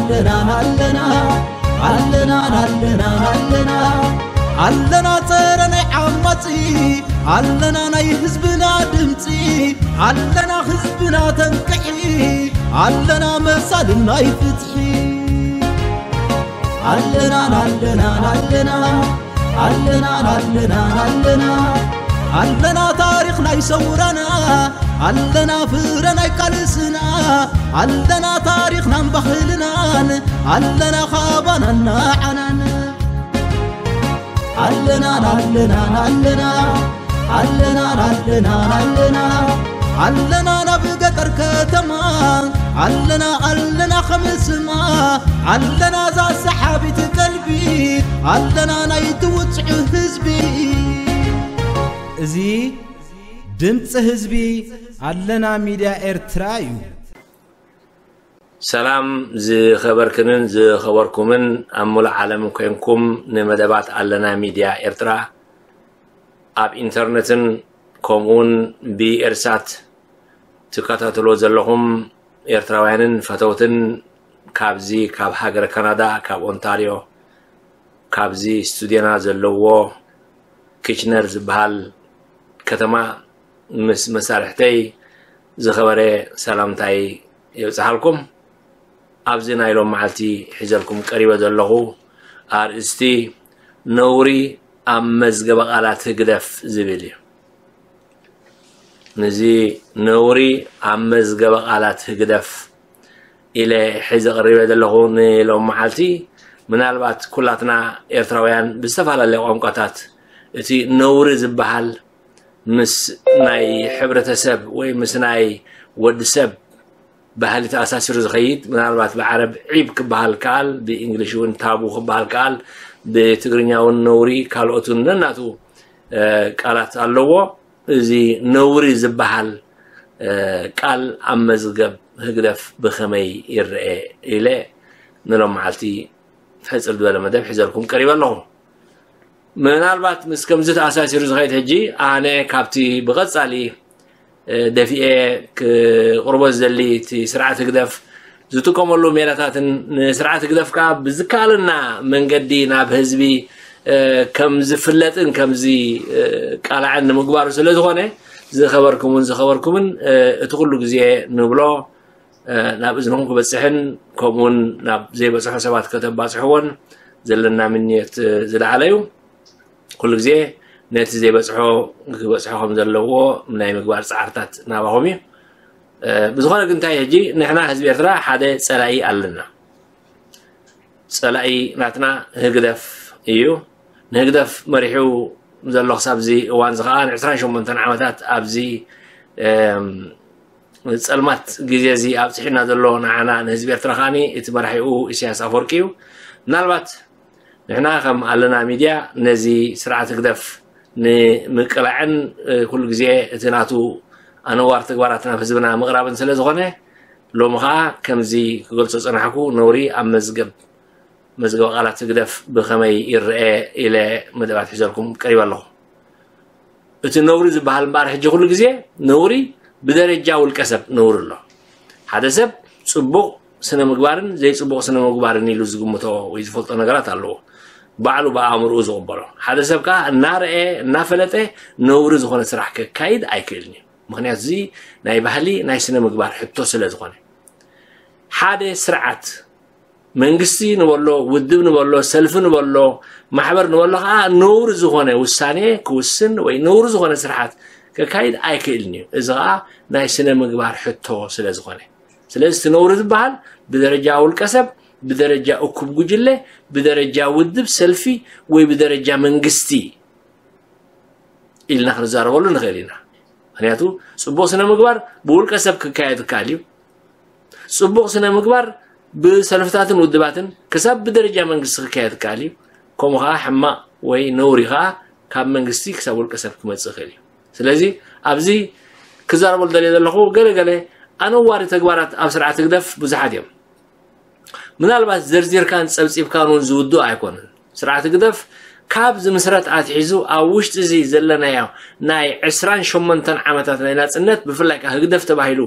ኣለና ኣለና ኣለና ኣለና ኣለና ኣለና ጸረ ናይ ዓማጺ ኣለና ናይ ህዝብና ድምጺ ኣለና ህዝብና ተንቅሒ ኣለና መሳልን ናይ ፍትሒ ኣለና ኣለና ኣለና ኣለና ኣለና ኣለና ኣለና ታሪኽ ናይ ሰውራና ኣለና ፍረ ናይ ቃልስና ኣለና ታሪኽናን ባህልናን ኣለና ካባናን ንዓናን ኣለና ኣለና ኣለና ኣለና ኣለና ኣለና ኣለና ናብ ገጠር ከተማ ኣለና ኣለና ከምስማ ኣለና እዛ ሰሓቢት ቀልቢ ኣለና ናይ ትውፅዑ ህዝቢ እዚ ድምፂ ህዝቢ ኣለና ሚድያ ኤርትራ እዩ። ሰላም ዝኸበርክንን ዝኸበርኩምን ኣብ ሙሉእ ዓለም ኮይንኩም ንመደባት ኣለና ሚድያ ኤርትራ ኣብ ኢንተርነትን ከምኡውን ብኤርሳት ትከታተሎ ዘለኹም ኤርትራውያንን ፈተውትን ካብዚ ካብ ሃገረ ካናዳ ካብ ኦንታርዮ ካብዚ ስቱድዮና ዘለዎ ኪችነር ዝበሃል ከተማ ምስ መሳርሕተይ ዝኸበረ ሰላምታይ የብጽሓልኩም። ኣብዚ ናይ ሎም መዓልቲ ሒዘልኩም ቀሪበ ዘለኹ ኣርእስቲ ነውሪ ኣብ መዝገበ ቃላት ህግደፍ ዝብል እዩ። ንዚ ነውሪ ኣብ መዝገበ ቃላት ህግደፍ ኢለ ሒዘ ቀሪበ ዘለኹ ንሎም መዓልቲ ምናልባት ኩላትና ኤርትራውያን ብዝተፈላለየ ቋንቋታት እቲ ነውሪ ዝበሃል ምስ ናይ ሕብረተሰብ ወይ ምስ ናይ ወዲ ሰብ ባህሊ ተኣሳሲሩ ዝኸይድ ምናልባት ብዓረብ ዒብ ክበሃል ከኣል ብእንግሊሽ እውን ታቡ ክበሃል ከኣል ብትግርኛ እውን ነውሪ ካልኦትን ነናቱ ቃላት ኣለዎ። እዚ ነውሪ ዝበሃል ቃል ኣብ መዝገብ ህግደፍ ብኸመይ ይረአ ኢለ ንሎም መዓልቲ ሕፅር ዝበለ መደብ ሒዘልኩም ቀሪበ ኣለኹ። ምናልባት ምስ ከምዚ ተኣሳሲሩ ዝኸይድ ሕጂ ኣነ ካብቲ ብቐጻሊ ደፊኤ ክቕርቦ ዝደሊ እቲ ስርዓት ህግደፍ ዝጥቀመሉ ሜላታትን ንስርዓት ህግደፍ ከዓ ብዝከኣለና መንገዲ ናብ ህዝቢ ከም ዝፍለጥን ከም ዝቃላዕን ንምግባሩ ስለ ዝኾነ ዝኸበርኩምን ዝኸበርኩምን እቲ ኩሉ ግዜ ንብሎ ናብ እዝንኹም ክበፅሕን ከምኡውን ናብ ዘይበፅሖ ሰባት ከተባፅሕዎን ዘለና ምንየት ዝለዓለ እዩ። ኩሉ ግዜ ነቲ ዘይበፅሖ ክበፅሖ ከም ዘለዎ ናይ ምግባር ፃዕርታት ናባኹም እዩ። ብዝኾነ ግን እንታይ ሕጂ ንሕና ህዝቢ ኤርትራ ሓደ ፀላኢ ኣለና። ፀላኢ ናትና ህግደፍ እዩ። ንህግደፍ መሪሑ ዘሎ ክሳብ እዚ እዋን እዚ ከዓ ን ዕስራን ሸሞንተን ዓመታት ኣብዚ ፀልማት ግዜ እዚ ኣብፅሒና ዘሎ ንዓና ንህዝቢ ኤርትራ ከዓኒ እቲ መራሒኡ ኢሳያስ ኣፈወርቂ እዩ። ምናልባት ንሕና ከም ኣለና ሚድያ ነዚ ስርዓት ህግደፍ ንምቅላዕን ኩሉ ግዜ እቲ ናቱ ኣነዋር ተግባራት ናብ ህዝብና ምቕራብን ስለ ዝኾነ ሎሚ ከዓ ከምዚ ክገልፆ ፀናሕኩ ነውሪ ኣብ መዝገብ መዝገበ ቃላት ህግደፍ ብኸመይ ይረአ ኢለ መደባት ሒዘልኩም ቀሪበ ኣለኹ። እቲ ነውሪ ዝበሃል እምበኣር ሕጂ ኩሉ ግዜ ነውሪ ብደረጃ ውልቀ ሰብ ነውሪ ኣሎ። ሓደ ሰብ ፅቡቕ ስነ ምግባርን ዘይፅቡቕ ስነ ምግባርን ኢሉ ዝግምቶ ወይ ዝፈልጦ ነገራት ኣለዎ። ባዕሉ ብኣእምርኡ ዝቕበሎ። ሓደ ሰብ ከዓ እናረአ እናፈለጠ ነውሪ ዝኾነ ስራሕ ከካይድ ኣይክእልን እዩ። ምክንያቱ እዚ ናይ ባህሊ ናይ ስነ ምግባር ሕቶ ስለ ዝኾነ ሓደ ስርዓት መንግስቲ ንበሎ፣ ውድብ ንበሎ፣ ሰልፊ ንበሎ፣ ማሕበር ንበሎ ከዓ ነውሪ ዝኾነ ውሳኔ ክውስን ወይ ነውሪ ዝኾነ ስርሓት ከካይድ ኣይክእልን እዩ። እዚ ከዓ ናይ ስነ ምግባር ሕቶ ስለ ዝኾነ። ስለዚ እቲ ነውሪ ዝበሃል ብደረጃ ውልቀ ሰብ፣ ብደረጃ እኩብ ጉጅለ፣ ብደረጃ ውድብ፣ ሰልፊ ወይ ብደረጃ መንግስቲ ኢልና ክንዛረበሉ ንኽእል ኢና። ምክንያቱ ፅቡቕ ስነ ምግባር ብውልቀ ሰብ ክካየድ ይከኣል እዩ። ፅቡቕ ስነ ምግባር ብሰልፍታትን ውድባትን ክሳብ ብደረጃ መንግስቲ ክካየድ ይከኣል እዩ። ከምኡ ከዓ ሕማቕ ወይ ነውሪ ከዓ ካብ መንግስቲ ክሳብ ውልቀ ሰብ ክመፅእ ይኽእል እዩ። ስለዚ ኣብዚ ክዛረበሉ ደልየ ዘለኹ ገለ ገለ ኣነዋሪ ተግባራት ኣብ ስርዓት ህግደፍ ብዙሓት እዮም። ምናልባት ዘርዚርካን ፀብፂብካን እውን ዝውድኡ ኣይኮነን። ስርዓት ህግደፍ ካብ ዝምስረት ኣትሒዙ ኣብ ውሽጢ እዚ ዘለናዮ ናይ ዕስራን ሸሞንተን ዓመታት ናይ ናፅነት ብፍላይ ከዓ ህግደፍ ተባሂሉ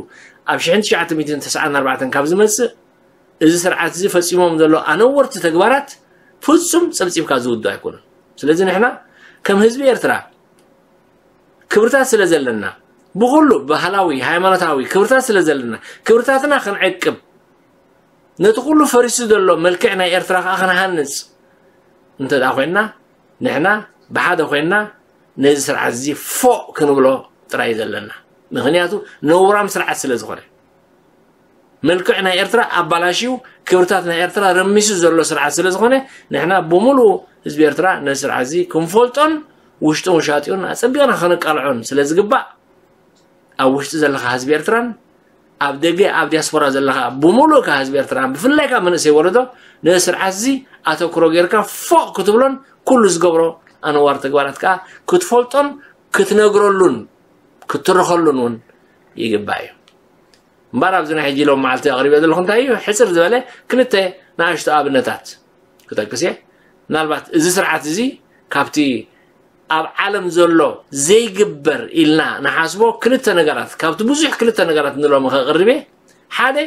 ኣብ ሽሕን ትሽዓተ ሚእትን ተስዓን ኣርባዕተን ካብ ዝመፅእ እዚ ስርዓት እዚ ፈጺሞም ዘሎ ኣነወርቲ ተግባራት ፍጹም ጸብጺብካ ዝውዶ ኣይኮነን። ስለዚ ንሕና ከም ህዝቢ ኤርትራ ክብርታት ስለ ዘለና፣ ብኹሉ ባህላዊ፣ ሃይማኖታዊ ክብርታት ስለ ዘለና፣ ክብርታትና ክንዕቅብ፣ ነቲ ኩሉ ፈሪሱ ዘሎ መልክዕ ናይ ኤርትራ ከኣ ክንሃንጽ እንተ ደኣ ኮይንና፣ ንሕና ብሓደ ኮይንና ነዚ ስርዓት እዚ ፎእ ክንብሎ ጥራይ ዘለና። ምኽንያቱ ነውራም ስርዓት ስለ ዝኾነ። መልክዕ ናይ ኤርትራ ኣባላሽዩ፣ ክብርታት ናይ ኤርትራ ረሚሱ ዘሎ ስርዓት ስለ ዝኾነ፣ ንሕና ብምሉኡ ህዝቢ ኤርትራ ነዚ ስርዓት እዚ ክንፈልጦን ውሽጡን ውሻጢኡን ኣጸቢቕና ከነቃልዖን ስለ ዝግባእ፣ ኣብ ውሽጢ ዘለኻ ህዝቢ ኤርትራን ኣብ ደገ ኣብ ዲያስፖራ ዘለኻ ብምሉእካ ህዝቢ ኤርትራን ብፍላይካ መንእሰይ ወለዶ ነዚ ስርዓት እዚ ኣተኩሮ ጌርካ ፎእ ክትብሎን ኩሉ ዝገብሮ ኣነዋር ተግባራት ከኣ ክትፈልጦን ክትነግረሉን ክትትርኸሉን እውን ይግባእ እዩ። እምበር ኣብዚ ናይ ሕጂ ሎም መዓልቲ ኣቕሪበ ዘለኹ እንታይ እዩ? ሕጽር ዝበለ ክልተ ንኣሽቱ ኣብነታት ክጠቅስ እየ። ምናልባት እዚ ስርዓት እዚ ካብቲ ኣብ ዓለም ዘሎ ዘይግበር ኢልና ንሓስቦ ክልተ ነገራት፣ ካብቲ ብዙሕ ክልተ ነገራት ንሎሚ ከቕርብ እየ። ሓደ፣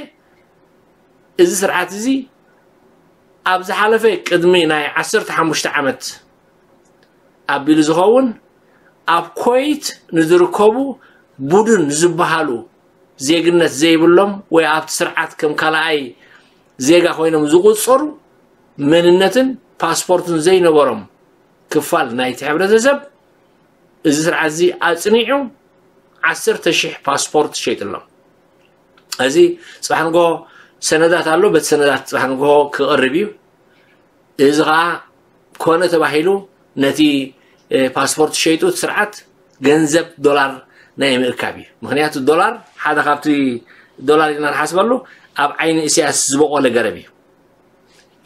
እዚ ስርዓት እዚ ኣብ ዝሓለፈ ቅድሚ ናይ ዓሰርተ ሓሙሽተ ዓመት ኣቢሉ ዝኸውን ኣብ ኮይት ንዝርከቡ ቡድን ዝበሃሉ ዜግነት ዘይብሎም ወይ ኣብቲ ስርዓት ከም ካልኣይ ዜጋ ኮይኖም ዝቑጸሩ መንነትን ፓስፖርትን ዘይነበሮም ክፋል ናይቲ ሕብረተሰብ እዚ ስርዓት እዚ ኣጽኒዑ ዓሰርተ ሽሕ ፓስፖርት ሸይጥሎም። እዚ ጽባሕ ንግሆ ሰነዳት ኣሎ፣ በቲ ሰነዳት ጽባሕ ንግሆ ክቐርብ እዩ። እዚ ኸኣ ኮነ ተባሂሉ ነቲ እ፣ ፓስፖርት ሸይጡ እቲ ስርዓት ገንዘብ ዶላር ናይ ምእካብ እዩ። ምኽንያቱ ዶላር ሓደ ካብቲ ዶላር ኢና ንሓስበሉ ኣብ ዓይኒ ኢሳያስ ዝበቆለ ገረብ እዩ።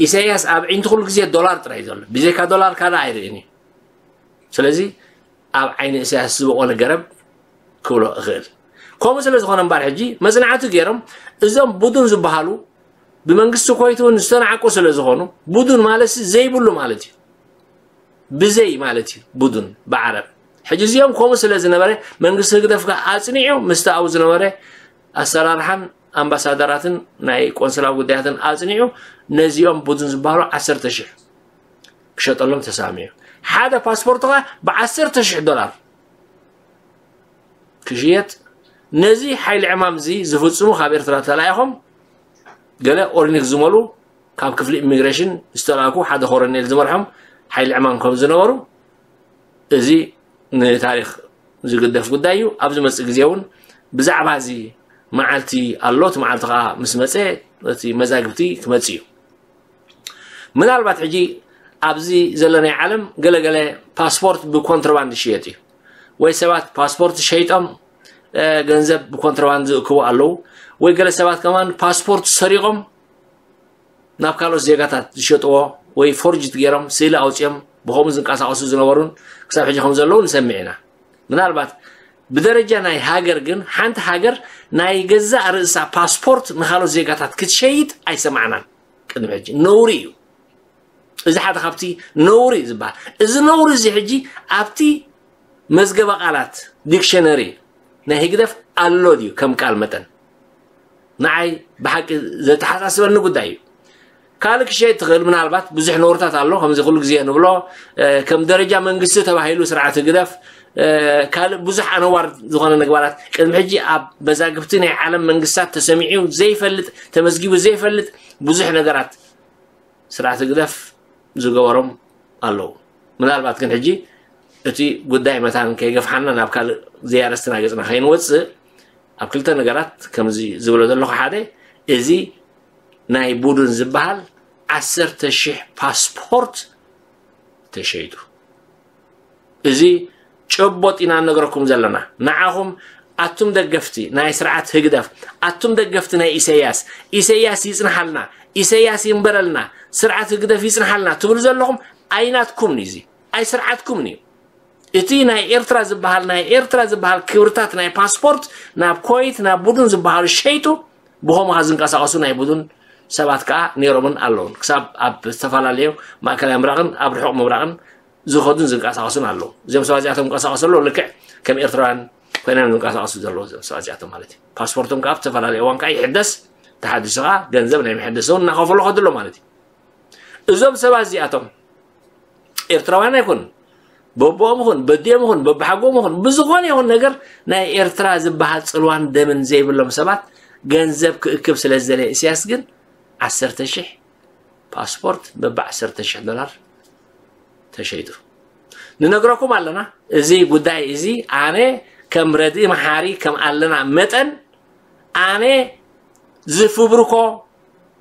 ኢሳያስ ኣብ ዓይንቱ ኩሉ ግዜ ዶላር ጥራይ እዩ ዘሎ። ብዘይካ ዶላር ካልእ ኣይርእን እዩ። ስለዚ ኣብ ዓይኒ ኢሳያስ ዝበቆለ ገረብ ክብሎ እኽእል። ከምኡ ስለ ዝኾነ እምበር ሕጂ መጽናዕቲ ገይሮም እዞም ቡዱን ዝበሃሉ ብመንግስቲ ኮይት እውን ዝተናዕቁ ስለ ዝኾኑ ቡዱን ማለት ዘይብሉ ማለት እዩ። ብዘይ ማለት እዩ ቡዱን ብዓረብ። ሕጂ እዚኦም ከምኡ ስለ ዝነበረ መንግስቲ ህግደፍ ከኣ ኣጽኒዑ ምስቲ ኣብኡ ዝነበረ ኣሰራርሓን ኣምባሳደራትን ናይ ቆንስላዊ ጉዳያትን ኣጽኒዑ ነዚኦም ቡዱን ዝበሃሉ ዓሰርተ ሽሕ ክሸጠሎም ተሳሚዑ። ሓደ ፓስፖርት ከኣ ብዓሰርተ ሽሕ ዶላር ክሽየጥ ነዚ ሓይሊ ዕማም እዚ ዝፍጽሙ ካብ ኤርትራ ተላኢኾም ገለ ኦርኒክ ዝመሉ ካብ ክፍሊ ኢሚግሬሽን ዝተላእኩ ሓደ ኮረኔል ዝመርሖም ሓይሊ ዕማም ከም ዝነበሩ እዚ ንታሪኽ ዝግደፍ ጉዳይ እዩ። ኣብ ዝመጽእ ግዜ እውን ብዛዕባ እዚ መዓልቲ ኣሎ። እቲ መዓልቲ ከኣ ምስ መጸ እቲ መዛግብቲ ክመጽእ እዩ። ምናልባት ሕጂ ኣብዚ ዘለናይ ዓለም ገለገለ ፓስፖርት ብኮንትሮባንድ ይሽየጥ እዩ ወይ ሰባት ፓስፖርት ሸይጦም እ፣ ገንዘብ ብኮንትሮባንድ ዝእክቡ ኣለዉ ወይ ገለ ሰባት ከማን ፓስፖርት ሰሪቖም ናብ ካልኦት ዜጋታት ዝሸጥዎ ወይ ፎርጅት ገይሮም ስእሊ ኣውፅኦም ብኸምኡ ዝንቀሳቐሱ ዝነበሩን ክሳብ ሕጂ ከም ዘለዉ ንሰምዕ ኢና። ምናልባት ብደረጃ ናይ ሃገር ግን ሓንቲ ሃገር ናይ ገዛእ ርእሳ ፓስፖርት ንኻልኦት ዜጋታት ክትሸይጥ ኣይሰማዕናን። ቅድሚ ሕጂ ነውሪ እዩ። እዚ ሓደ ካብቲ ነውሪ ዝበሃል። እዚ ነውሪ እዚ ሕጂ ኣብቲ መዝገበ ቃላት ዲክሸነሪ ናይ ህግደፍ ኣሎ ድዩ ከም ቃል መጠን? ንዓይ ብሓቂ ዘተሓሳስበኒ ጉዳይ እዩ። ካልእ ክሸይጥ ትኽእል፣ ምናልባት ብዙሕ ነውርታት ኣሎ፣ ከምዚ ኩሉ ግዜ ንብሎ፣ እ፣ ከም ደረጃ መንግስቲ ተባሂሉ ስርዓት ህግደፍ፣ እ፣ ካልእ ብዙሕ ኣነዋር ዝኾነ ነግባራት ቅድሚ ሕጂ ኣብ መዛግብቲ ናይ ዓለም መንግስታት ተሰሚዑ ዘይፈልጥ፣ ተመዝጊቡ ዘይፈልጥ ብዙሕ ነገራት ስርዓት ህግደፍ ዝገበሮም ኣለዉ። ምናልባት ግን ሕጂ እቲ ጉዳይ መታን ከይገፍሓና ናብ ካልእ ዘያረስትና ገጽና ከይንወጽእ ኣብ ክልተ ነገራት ከምዚ ዝብሎ ዘለኹ ሓደ፣ እዚ ናይ ቡድን ዝበሃል ዓሰርተ ሽሕ ፓስፖርት ተሸይጡ። እዚ ጨቦጥ ኢና ንነግረኩም ዘለና። ንዓኹም ኣቱም ደገፍቲ ናይ ስርዓት ህግደፍ፣ ኣቱም ደገፍቲ ናይ ኢሰያስ፣ ኢሰያስ ይጽንሓልና፣ ኢሰያስ ይንበረልና፣ ስርዓት ህግደፍ ይጽንሓልና ትብሉ ዘለኹም ኣይናትኩምን እዩ። እዚ ኣይ ስርዓትኩምን እዩ። እቲ ናይ ኤርትራ ዝበሃል፣ ናይ ኤርትራ ዝበሃል ክብርታት ናይ ፓስፖርት ናብ ኮይት ናብ ቡዱን ዝበሃሉ ሸይጡ ብኸምኡ ዝንቀሳቐሱ ናይ ቡዱን ሰባት ከኣ ነይሮምን ኣለውን። ክሳብ ኣብ ዝተፈላለዩ ማእከላይ ምብራቕን ኣብ ርሑቕ ምብራቕን ዝኸዱን ዝንቀሳቐሱን ኣለዉ። እዚኦም ሰባት እዚኣቶም ዝንቀሳቐሱ ኣለዉ፣ ልክዕ ከም ኤርትራውያን ኮይኖም ዝንቀሳቐሱ ዘለዉ እዚኦም ሰባት እዚኣቶም ማለት እዩ። ፓስፖርቶም ከኣ ኣብ ዝተፈላለዩ እዋን ከኣ ይሕደስ፣ ተሓዲሱ ከዓ ገንዘብ ናይ መሐደሲ እውን እናኸፈሉ ከድሎ ማለት እዩ። እዞም ሰባት እዚኣቶም ኤርትራውያን ኣይኮኑን። በቦኦም ይኹን በዲኦም ይኹን በብሓጎም ይኹን ብዝኾነ ይኹን ነገር ናይ ኤርትራ ዝበሃል ጽልዋን ደምን ዘይብሎም ሰባት ገንዘብ ክእክብ ስለ ዝደለየ ኢሳያስ ግን ዓሰርተ ሺሕ ፓስፖርት በብ ዓሰርተ ሺሕ ዶላር ተሸይጡ። ንነግረኩም ኣለና። እዚ ጉዳይ እዚ ኣነ ከም ረድኢ መሓሪ ከም ኣለና መጠን ኣነ ዝፍብርኮ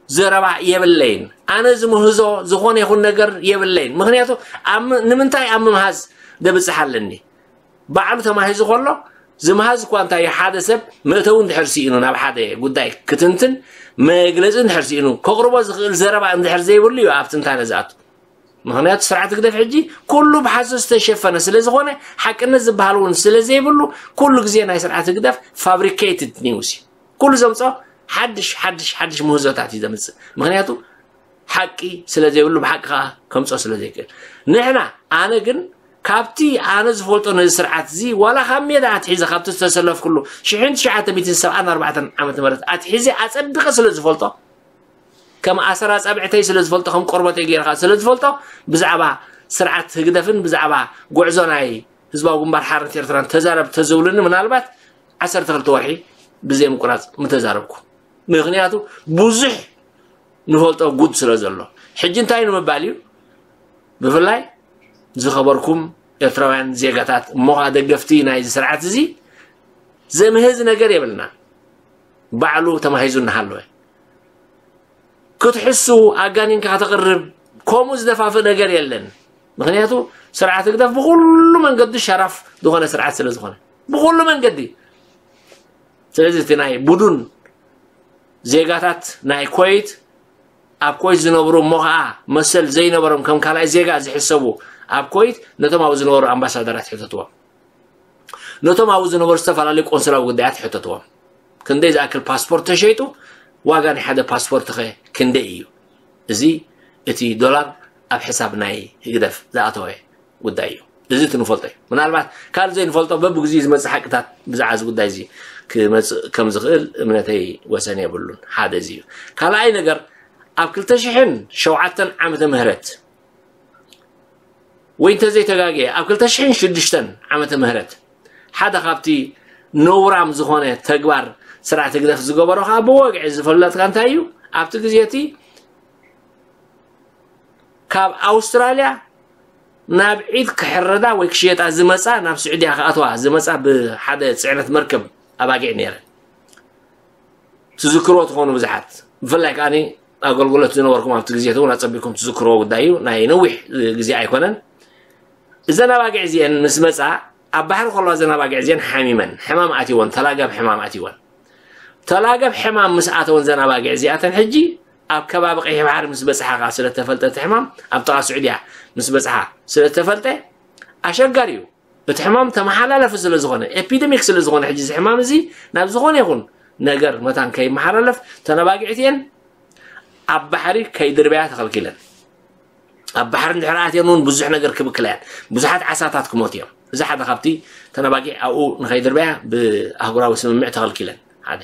ዘረባ የብለይን። ኣነ ዝምህዞ ዝኾነ ይኹን ነገር የብለይን። ምኽንያቱ ኣብ ም- ንምንታይ ኣብ ምምሃዝ ደብፅሕ ኣለኒ? ባዕሉ ተማሂዙ ከሎ ዝምሃዝ እኳ እንታይ እዩ፣ ሓደ ሰብ መእተዊ እንድሕር ስኢኑ ናብ ሓደ ጉዳይ ክትንትን መግለፂ እንድሕር ስኢኑ ከቕርቦ ዝኽእል ዘረባ እንድሕር ዘይብሉ እዩ ኣብ ትንታነ ዝኣቱ። ምኽንያቱ ስርዓት ህግደፍ ሕጂ ኩሉ ብሓሶት ዝተሸፈነ ስለ ዝኾነ ሓቅነት ዝበሃል እውን ስለ ዘይብሉ ኩሉ ግዜ ናይ ስርዓት ህግደፍ ፋብሪኬትድ ኒውስ እዩ። ኩሉ ዘምፅኦ ሓድሽ ሓድሽ ሓድሽ ምህዞታት እዩ ዘምፅእ። ምኽንያቱ ሓቂ ስለ ዘይብሉ ብሓቂ ከዓ ከምፅኦ ስለ ዘይክእል ንሕና ኣነ ግን ካብቲ ኣነ ዝፈልጦ ነዚ ስርዓት እዚ ዋላ ካብ ሜዳ ኣትሒዘ ካብቲ ዝተሰለፍኩሉ ሽሕን ትሽዓተ ሚእትን ሰብዓን ኣርባዕተን ዓመተ ምህረት ኣትሒዘ ኣፀድቐ ስለ ዝፈልጦ ከም ኣሰር ኣፃብዕተይ ስለ ዝፈልጦ ከም ቆርበተይ ገይርካ ስለ ዝፈልጦ ብዛዕባ ስርዓት ህግደፍን ብዛዕባ ጉዕዞ ናይ ህዝባዊ ግንባር ሓርነት ኤርትራን ተዛረብ ተዝብሉኒ ምናልባት ዓሰርተ ክልተ ወርሒ ብዘይ ምቁራፅ ምተዛረብኩ። ምኽንያቱ ብዙሕ ንፈልጦ ጉድ ስለ ዘሎ ሕጂ እንታይ ንምባል እዩ? ብፍላይ ዝኸበርኩም ኤርትራውያን ዜጋታት እሞ ከዓ ደገፍቲ ናይዚ ስርዓት እዚ ዘምህዝ ነገር የብልና። ባዕሉ ተማሂዙ እናሃለወ ክትሕሱ ኣጋኒንካ ከተቕርብ ከምኡ ዝደፋፍእ ነገር የለን። ምኽንያቱ ስርዓት ህግደፍ ብኩሉ መንገዲ ሸራፍ ዝኾነ ስርዓት ስለ ዝኾነ ብኩሉ መንገዲ። ስለዚ እቲ ናይ ቡዱን ዜጋታት ናይ ኮይት ኣብ ኮይት ዝነብሩ እሞ ከዓ መሰል ዘይነበሮም ከም ካልኣይ ዜጋ ዝሕሰቡ ኣብ ኮይት ነቶም ኣብኡ ዝነበሩ ኣምባሳደራት ሕተትዎም። ነቶም ኣብኡ ዝነበሩ ዝተፈላለዩ ቆንስላዊ ጉዳያት ሕተትዎም። ክንደይ ዝኣክል ፓስፖርት ተሸይጡ? ዋጋ ናይ ሓደ ፓስፖርት ኸ ክንደይ እዩ? እዚ እቲ ዶላር ኣብ ሕሳብ ናይ ህግደፍ ዝኣተወ ጉዳይ እዩ። እዚ እቲ ንፈልጦ እዩ። ምናልባት ካልእ ዘይንፈልጦ በብግዚኡ ዝመፅእ ሓቅታት ብዛዕባ እዚ ጉዳይ እዚ ክመፅእ ከም ዝኽእል እምነተይ ወሰን የብሉን። ሓደ እዚ እዩ። ካልኣይ ነገር ኣብ ክልተ ሽሕን ሸውዓተን ዓመተ ምህረት ወይ እንተዘይተጋግየ ኣብ ክልተ ሽሕን ሽዱሽተን ዓመተ ምህረት ሓደ ካብቲ ነውራም ዝኾነ ተግባር ስርዓት ህግደፍ ዝገበሮ ከዓ ብወግዒ ዝፈለጥካ እንታይ እዩ? ኣብቲ ግዜ እቲ ካብ ኣውስትራልያ ናብ ዒድ ክሕረዳ ወይ ክሽየጣ ዝመፃ ናብ ስዑድያ ክኣትዋ ዝመፃ ብሓደ ፅዕነት መርከብ ኣባጊዕ ነይረን። ትዝክርዎ ትኾኑ ብዙሓት ብፍላይ ከዓኒ ኣገልግሎት ዝነበርኩም ኣብቲ ግዜ እውን ኣፀቢኩም ትዝክርዎ ጉዳይ እዩ። ናይ ነዊሕ ግዜ ኣይኮነን። እዘን ኣባጊዕ እዚአን ምስ መፃ ኣብ ባሕሪ ከለዋ እዘን ኣባጊዕ እዚአን ሓሚመን ሕማም ኣትይወን ተላገብ ሕማም ኣትይወን ተላገብ ሕማም ምስ ኣተወን ዘን ኣባጊዕ እዚኣተን ሕጂ ኣብ ከባቢ ቀይሕ ባሕሪ ምስ በፅሓ ከዓ ስለተፈልጠ እቲ ሕማም ኣብ ጥቓ ስዑድያ ምስ በፅሓ ስለተፈልጠ ኣሸጋሪ እዩ። እቲ ሕማም ተመሓላለፊ ስለ ዝኾነ ኤፒደሚክ ስለ ዝኾነ ሕጂ እዚ ሕማም እዚ ናብ ዝኾነ ይኹን ነገር መታን ከይመሓላለፍ ተነባጊዕት እየን ኣብ ባሕሪ ከይድርበያ ተኸልኪለን። ኣብ ባሕሪ እንድሕር ኣትየን እውን ብዙሕ ነገር ክብክላ እየን። ብዙሓት ዓሳታት ክሞት እዮም። እዚ ሓደ ካብቲ ተነባጊዕ ኣብኡ ንኸይድርበያ ብኣህጉራዊ ስምምዕ ተኸልኪለን ሓደ።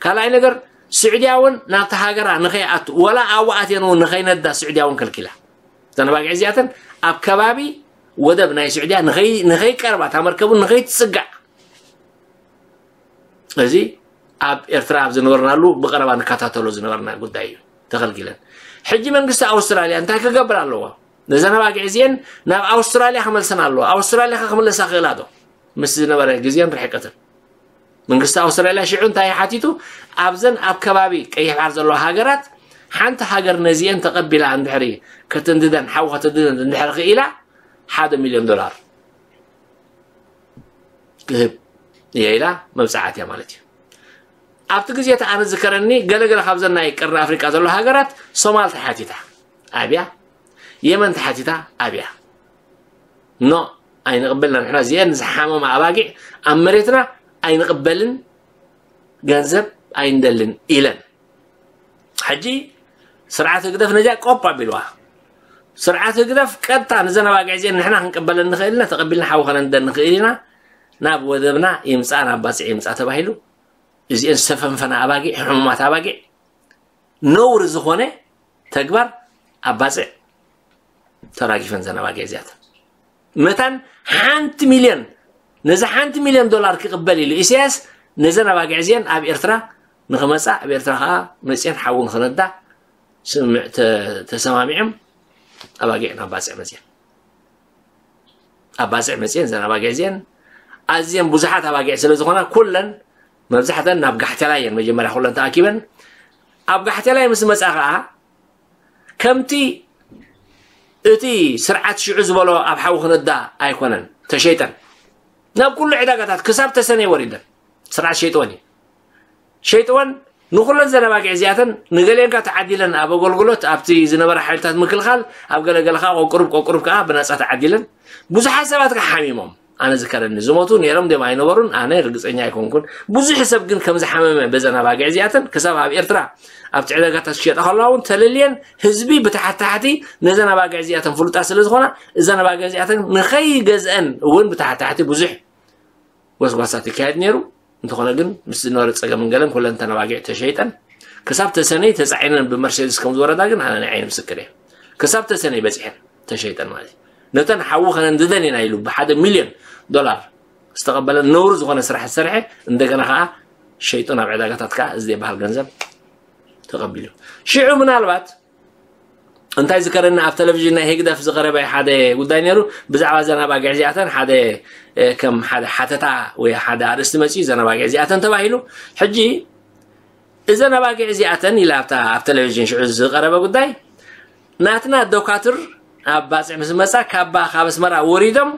ካልኣይ ነገር ስዑድያ እውን ናብቲ ሃገራ ንኸይኣቱ ወላ ኣብኡ ኣትየን እውን ንኸይነዳ ስዑድያ እውን ከልኪላ። ተነባጊዕ እዚኣተን ኣብ ከባቢ ወደብ ናይ ስዑድያ ንኸይ- ንኸይቀርባ እታ መርከብ እውን ንኸይትፅጋዕ እዚ ኣብ ኤርትራ ኣብ ዝነበርናሉ ብቐረባ ንከታተሎ ዝነበርና ጉዳይ እዩ። ተኸልኪለን። ሕጂ መንግስቲ ኣውስትራልያ እንታይ ክገብር ኣለዎ? ነዘን ኣባጊዕ እዚአን ናብ ኣውስትራልያ ክመልሰን ኣለዎ። ኣውስትራልያ ከ ክምለሳ ክእላ ዶ? ምስ ዝነበረ ግዜን ርሕቀትን መንግስቲ ኣውስትራልያ ሽዑ እንታይ ሓቲቱ? ኣብዘን ኣብ ከባቢ ቀይሕ ባሕር ዘለዋ ሃገራት ሓንቲ ሃገር ነዚአን ተቐቢላ እንድሕሪ ከተንድደን ሓዊ ከተንድደን እንድሕር ክኢላ ሓደ ሚልዮን ዶላር ክህብ እየ ኢላ መብፅዓት እያ ማለት እዩ። ኣብቲ ግዜ እቲ ኣነ ዝከረኒ ገለገለ ካብዘን ናይ ቀርኒ ኣፍሪቃ ዘሎ ሃገራት ሶማል ተሓቲታ ኣብያ፣ የመን ተሓቲታ ኣብያ። ኖ ኣይንቕበልና ንሕና እዚአን ዝሓመማ ኣባጊዕ ኣብ መሬትና ኣይንቕበልን ገንዘብ ኣይንደልን ኢለን። ሕጂ ስርዓት ህግደፍ ነዚኣ ቆፕ ኣቢልዋ። ስርዓት ህግደፍ ቀጥታ ንዘን ኣባጊዕ እዚአን ንሕና ክንቅበለን ንኽእል ኢና፣ ተቐቢልና ሓዊ ከነንደን ንኽእል ኢና፣ ናብ ወደብና ይምፃ ናብ ባፅዕ ይምፃ ተባሂሉ እዚአን ዝተፈንፈና ኣባጊዕ ሕሙማት ኣባጊዕ ነውሪ ዝኾነ ተግባር ኣብ ባፅዕ ተራጊፈን ዘናባጊዕ እዚኣተን። መታን ሓንቲ ሚልዮን፣ ነዚ ሓንቲ ሚልዮን ዶላር ክቕበል ኢሉ ኢሳያስ፣ ነዘን ኣባጊዕ እዚአን ኣብ ኤርትራ ንኽመጻ፣ ኣብ ኤርትራ ኸዓ መጽየን ሓዊ ንኽነዳ ስምምዕ ተ-፣ ተሰማሚዖም ኣባጊዕ ናብ ባጽዕ መጽየን። ኣብ ባጽዕ መጽየን፣ እዘን ኣባጊዕ እዚአን ኣዝየን ብዙሓት ኣባጊዕ ስለ ዝኾና፣ ኩለን መብዛሕተን ናብ ጋሕቴላ እየን መጀመርያ ኩለን ተኣኪበን። ኣብ ጋሕቴላይ ምስ መጻ ኸዓ፣ ከምቲ እቲ ስርዓት ሽዑ ዝበሎ ኣብ ሓዊ ክነዳ ኣይኮነን፣ ተሸይጠን። ናብ ኩሉ ዕዳጋታት ክሳብ ተሰነይ ወሪደን። ስርዓት ሸይጥወን እዩ። ሸይጥወን ንኹለን ዘን ኣባጊዕ እዚኣተን ንገሊአን ከኣ ተዓዲለን ኣብ ኣገልግሎት ኣብቲ ዝነበረ ሓይልታት ምክልኻል ኣብ ገለገለ ከኣ ቆቁሩብ ቆቁሩብ ከኣ ብናጻ ተዓዲለን። ብዙሓት ሰባት ከኣ ሓሚሞም። ኣነ ዝከረኒ ዝሞቱ ነይሮም ድዮም ኣይነበሩን ኣነ ርግጸኛ ኣይኮንኩን። ብዙሕ ሰብ ግን ከም ዝሓመመ በዘን ኣባጊዕ እዚኣተን ክሳብ ኣብ ኤርትራ ኣብቲ ዕዳጋታት ክሸጣ ከለዋ እውን ተለልየን ህዝቢ ብታሕቲ ታሕቲ ነዘን ኣባጊዕ እዚኣተን ፍሉጣት ስለ ዝኾና እዘን ኣባጊዕ እዚኣተን ንኸይገዝአን እውን ብታሕቲ ታሕቲ ብዙሕ ጎስጓሳት ይካየድ ነይሩ። እንተኾነ ግን ምስ ዝነበረ ጸገምን ገለን ኩለን እተን ኣባጊዕ ተሸይጠን ክሳብ ተሰነይ ተጻዒነን ብመርሴድስ ከም ዝወረዳ ግን ኣነ ናይ ዓይኒ ምስክር እየ። ክሳብ ተሰነይ በጺሐን ተሸይጠን ማለት እዩ። ነተን ሓዊ ከነንድደን ኢና ኢሉ ብሓደ ሚልዮን ዶላር ዝተቐበለን ነውሪ ዝኾነ ስራሕ ዝሰርሐ እንደገና ከዓ ሸይጡ ናብ ዕዳጋታት ከዓ እዚ ዘይበሃል ገንዘብ ተቐቢሉ። ሽዑ ምናልባት እንታይ ዝከረኒ ኣብ ቴሌቪዥን ናይ ህግደፍ ዝቐረበ ሓደ ጉዳይ ነይሩ። ብዛዕባ እዘን ኣባጊዕ እዚኣተን ሓደ፣ እ፣ ከም ሓደ ሓተታ ወይ ሓደ ኣርእስቲ መጺኡ እዘን ኣባጊዕ እዚኣተን ተባሂሉ። ሕጂ እዘን ኣባጊዕ እዚኣተን ኢላ ኣብታ ኣብ ቴሌቪዥን ሽዑ ዝቐረበ ጉዳይ ናትና ዶካትር ኣብ ባጽዕ ምስ መጻ ካባ ካብ ኣስመራ ወሪዶም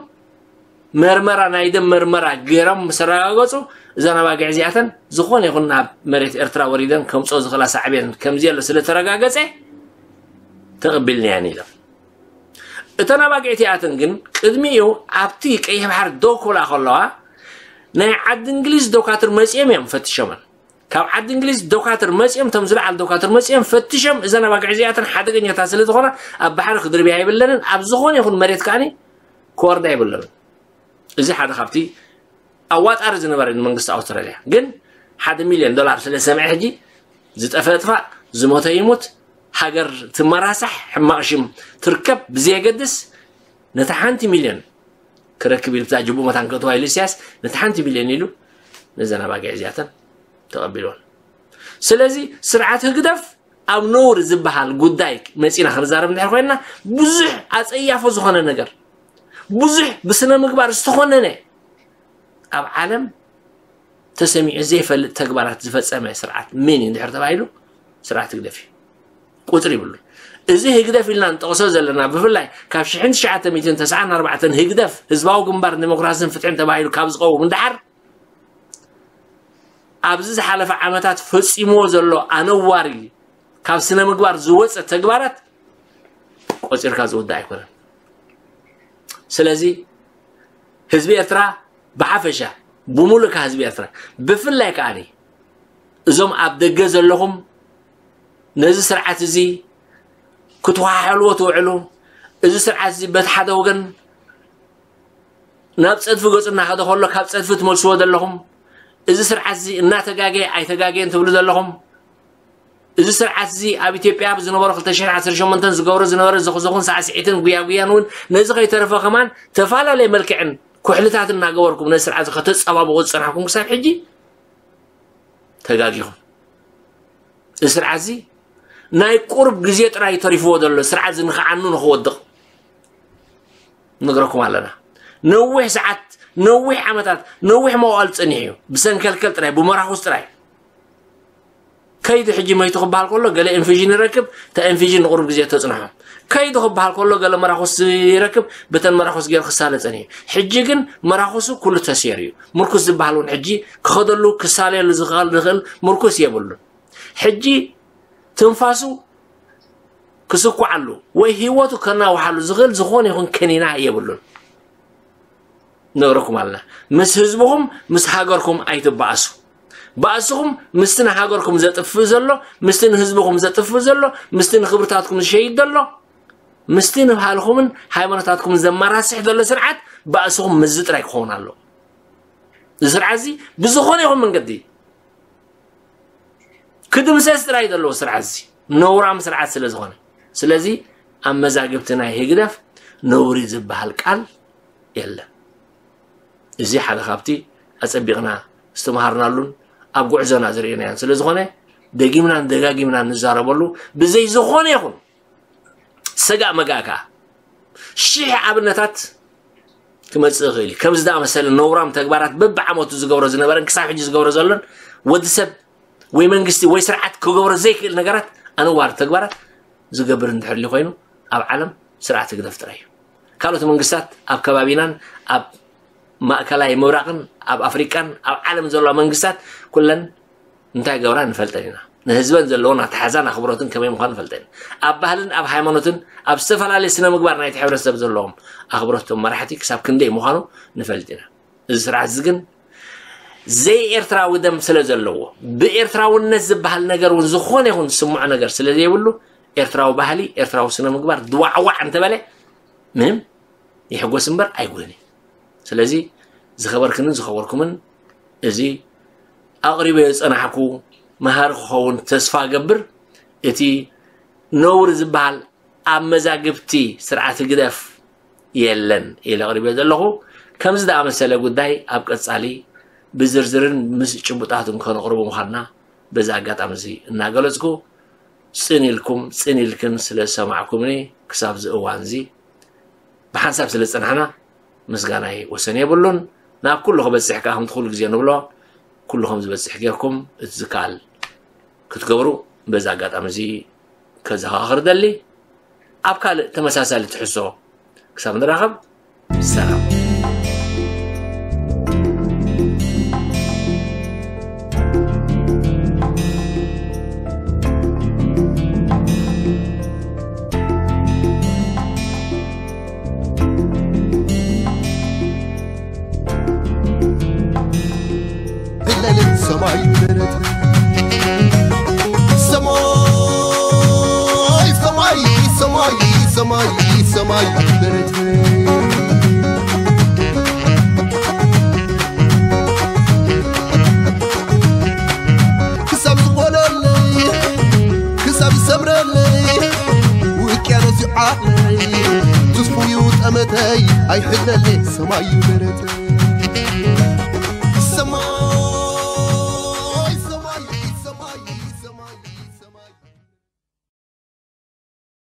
መርመራ ናይ ደም መርመራ ገይሮም ምስ ኣረጋገጹ እዘን ኣባጊዕ እዚኣተን ዝኾነ ይኹን ናብ መሬት ኤርትራ ወሪደን ከምጽኦ ዝኽእላ ሳዕቤን ከምዘየሎ ስለ ተረጋገጸ ተቐቢልናየን ኢሎም። እተን ኣባጊዕ እቲኣተን ግን ቅድሚኡ ኣብቲ ቀይሕ ባሕሪ ደው ክብላ ከለዋ ናይ ዓዲ እንግሊዝ ዶካትር መጺኦም እዮም ፈትሾመን። ካብ ዓዲ እንግሊዝ ዶካትር መጺኦም፣ እቶም ዝለዓሉ ዶካትር መጺኦም ፈትሾም እዘን ኣባጊዕ እዚኣተን ሓደገኛታት ስለ ዝኾና ኣብ ባሕሪ ክድርብያ የብለንን፣ ኣብ ዝኾነ ይኹን መሬት ከኣኒ ክወርዳ የብለንን። እዚ ሓደ ካብቲ ኣዋጣሪ ዝነበረ ንመንግስቲ ኣውስትራልያ። ግን ሓደ ሚልዮን ዶላር ስለ ዝሰምዐ ሕጂ ዝጠፍአ ጥፋእ፣ ዝሞተ ይሙት፣ ሃገር ትመራሳሕ፣ ሕማቕ ሽም ትርከብ ብዘየገድስ ነታ ሓንቲ ሚልዮን ክረክብ ኢሉ ብታ ጅቡእ መታን ክእትዋ ኢሉ ኢሳያስ ነቲ ሓንቲ ሚልዮን ኢሉ ነዘን ኣባጊዕ እዚኣተን ተቐቢልወን። ስለዚ ስርዓት ህግደፍ ኣብ ነውሪ ዝበሃል ጉዳይ መጺና ክንዛረብ እንድሕር ኮይንና ብዙሕ ኣጸያፎ ዝኾነ ነገር ብዙሕ ብስነ ምግባር ዝተኾነነ ኣብ ዓለም ተሰሚዑ ዘይፈልጥ ተግባራት ዝፈጸመ ስርዓት መን እዩ እንድሕር ተባሂሉ ስርዓት ህግደፍ እዩ። ቁጽሪ ይብሉ። እዚ ህግደፍ ኢልና ንጠቕሶ ዘለና ብፍላይ ካብ ሽሕን ትሽዓተ ሚእትን ተስዓን ኣርባዕተን ህግደፍ ህዝባዊ ግንባር ዲሞክራስን ፍትሕን ተባሂሉ ካብ ዝቐውም እንዳሓር ኣብዚ ዝሓለፈ ዓመታት ፈጺምዎ ዘሎ ኣነዋሪ ካብ ስነ ምግባር ዝወፀ ተግባራት ቆፂርካ ዝውዳእ ኣይኮነን። ስለዚ ህዝቢ ኤርትራ ብሓፈሻ ብሙሉእ ህዝቢ ኤርትራ ብፍላይ ከዓኒ እዞም ኣብ ደገ ዘለኹም ነዚ ስርዓት እዚ ክትወሓሕልዎ ትውዕሉ፣ እዚ ስርዓት እዚ በቲ ሓደ ወገን ናብ ጸድፊ ገጹ እናኸደ ከሎ ካብ ጸድፊ ትመልስዎ ዘለኹም፣ እዚ ስርዓት እዚ እናተጋገየ ኣይተጋገየን ትብሉ ዘለኹም፣ እዚ ስርዓት እዚ ኣብ ኢትዮጵያ ብዝነበሩ ክልተ ሽሕን ዓሰርተ ሸሞንተን ዝገብሮ ዝነበረ ዝኽዝኹን ሳዕስዒትን ጉያጉያን እውን ነዚ ከይተረፈ ከማን ተፈላለየ መልክዕን ኩሕልታት እናገበርኩም ነዚ ስርዓት እዚ ከተጸባብቑ ዝጸናሕኩም ክሳብ ሕጂ ተጋጊኹም። እዚ ስርዓት እዚ ናይ ቁሩብ ግዜ ጥራይ ተሪፍዎ ዘሎ ስርዓት እዚ ንኽዓኑ ንኽወድቕ ንነግረኩም ኣለና። ነዊሕ ሰዓት፣ ነዊሕ ዓመታት፣ ነዊሕ መዋእል ጸኒሑ እዩ። ብሰንከልከል ጥራይ፣ ብመራኹስ ጥራይ። ከይዱ ሕጂ መይቱ ክበሃል ከሎ ገለ ኢንፊዥን ይረክብ፣ እታ ኢንፊዥን ንቁሩብ ግዜ ተጽንሖ። ከይዱ ክበሃል ከሎ ገለ መራኹስ ይረክብ፣ ብተን መራኹስ ገይሩ ክሳለ ጸኒሑ። ሕጂ ግን መራኹሱ ኩሉ ተሰይሩ እዩ። ምርኩስ ዝበሃል እውን ሕጂ ክኸደሉ ክሳለየሉ ዝኽእል፣ ዝኽእል ምርኩስ የብሉን። ሕጂ ትንፋሱ ክስኩዓሉ ወይ ህይወቱ ከናውሓሉ ዝኽእል ዝኾነ ይኹን ከኒና የብሉን። ነግረኩም ኣለና። ምስ ህዝብኹም፣ ምስ ሃገርኩም ኣይትበኣሱ። ባእስኹም ምስቲ ንሃገርኩም ዘጥፍእ ዘሎ፣ ምስቲ ንህዝብኹም ዘጥፍእ ዘሎ፣ ምስቲ ንክብርታትኩም ዝሸይድ ዘሎ፣ ምስቲ ንባህልኹምን ሃይማኖታትኩም ዘመራስሕ ዘሎ ስርዓት ባእስኹም ምስዚ ጥራይ ክኸውን ኣለዎ። እዚ ስርዓት እዚ ብዝኾነ ይኹን መንገዲ ክድምሰስ ጥራይ ዘለዎ ስርዓት እዚ። ነውራም ስርዓት ስለ ዝኾነ። ስለዚ ኣብ መዛግብቲ ናይ ህግደፍ ነውሪ ዝበሃል ቃል የለን። እዚ ሓደ ካብቲ ኣጸቢቕና ዝተምሃርናሉን ኣብ ጉዕዞና ዝርእናዮን ስለ ዝኾነ፣ ደጊምናን ደጋጊምናን ንዛረበሉ። ብዘይ ዝኾነ ይኹን ሰጋእ መጋእ ከኣ ሽሕ ኣብነታት ክመጽእ ይኽእል እዩ። ከምዚ ዝኣመሰለ ነውራም ተግባራት በብዓመቱ ዝገብሮ ዝነበረን ክሳብ ሕጂ ዝገብሮ ዘሎን፣ ወዲ ሰብ ወይ መንግስቲ ወይ ስርዓት ክገብሮ ዘይክእል ነገራት፣ ኣነዋሪ ተግባራት ዝገብር እንድሕር ኮይኑ፣ ኣብ ዓለም ስርዓት ህግደፍ ጥራይ እዩ። ካልኦት መንግስታት ኣብ ከባቢናን ኣብ ማእከላይ ምብራቕን ኣብ ኣፍሪቃን ኣብ ዓለም ዘለዋ መንግስታት ኩለን እንታይ ገብራ ንፈልጠን ኢና። ንህዝበን ዘለዎን ኣተሓዛን ኣኽብሮትን ከመይ ምዃኑ ንፈልጠን ኢና። ኣብ ባህልን ኣብ ሃይማኖትን ኣብ ዝተፈላለየ ስነ ምግባር ናይቲ ሕብረተሰብ ዘለዎም ኣኽብሮቶም መራሕቲ ክሳብ ክንደይ ምዃኑ ንፈልጥ ኢና። እዚ ስርዓት እዚ ግን ዘይኤርትራዊ ደም ስለ ዘለዎ፣ ብኤርትራውነት ዝበሃል ነገር እውን ዝኾነ ይኹን ስምዖ ነገር ስለ ዘይብሉ፣ ኤርትራዊ ባህሊ፣ ኤርትራዊ ስነ ምግባር ድዋዕዋዕ እንተበለ ምንም ይሕጎስ እምበር ኣይጉህን እዩ። ስለዚ ዝኸበርክንን ዝኸበርኩምን፣ እዚ ኣቕሪበዮ ዝጸናሕኩ መሃሪ ክኸውን ተስፋ እገብር። እቲ ነውሪ ዝበሃል ኣብ መዛግብቲ ስርዓት ህግደፍ የለን ኢለ ኣቕሪበዮ ዘለኹ። ከምዚ ዝኣመሰለ ጉዳይ ኣብ ቀጻሊ ብዝርዝርን ምስ ጭቡጣትን ከነቕርቦ ምዃንና በዚ ኣጋጣሚ እዚ እናገለጽኩ፣ ጽን ኢልኩም ጽን ኢልክን ስለ ዝሰማዕኩምኒ ክሳብ እዚ እዋን እዚ ብሓንሳብ ስለ ዝጸናሕና ምስጋናይ ወሰን የብሉን። ናብ ኩሉ ክበጽሕ ከኣ ከምቲ ኩሉ ግዜ ንብሎ፣ ኩሉ ከም ዝበጽሕ ጌርኩም እቲ ዝከኣል ክትገብሩ በዚ ኣጋጣሚ እዚ ከዘኻኽር ደሊ። ኣብ ካልእ ተመሳሳሊ ትሕዝቶ ክሳብ ንራኸብ፣ ሰላም። ለልን ሰማይ በረት ሰማይ ሰማይ ሰማይ ሰማይ ሰማይ በረት ክሳብ ዝቆለለይ ክሳብ ዝሰምረለይ ውቅያኖስ ይዓለይ ትስፉዩ ጠመተይ ኣይሕለለይ ሰማይ በረት